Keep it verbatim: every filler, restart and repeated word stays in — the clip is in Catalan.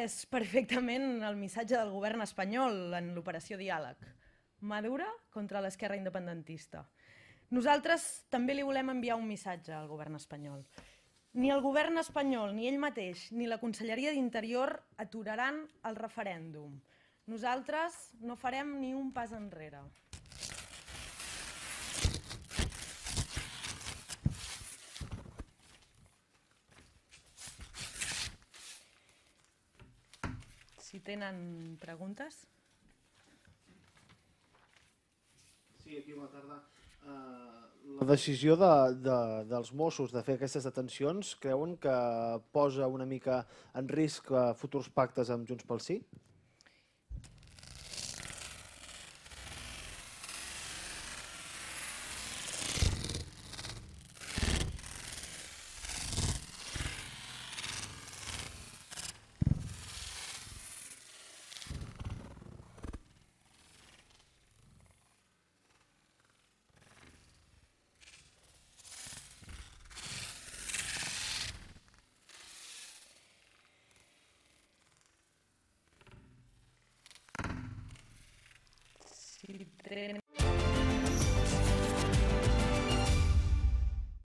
és perfectament el missatge del govern espanyol en l'operació Diàleg. Mà dura contra l'esquerra independentista. Nosaltres també li volem enviar un missatge al govern espanyol. Ni el govern espanyol, ni ell mateix, ni la Conselleria d'Interior aturaran el referèndum. Nosaltres no farem ni un pas enrere. Si tenen preguntes. Sí, aquí bona tarda. La decisió de, de, dels Mossos de fer aquestes detencions creuen que posa una mica en risc futurs pactes amb Junts pel Sí? Si tenen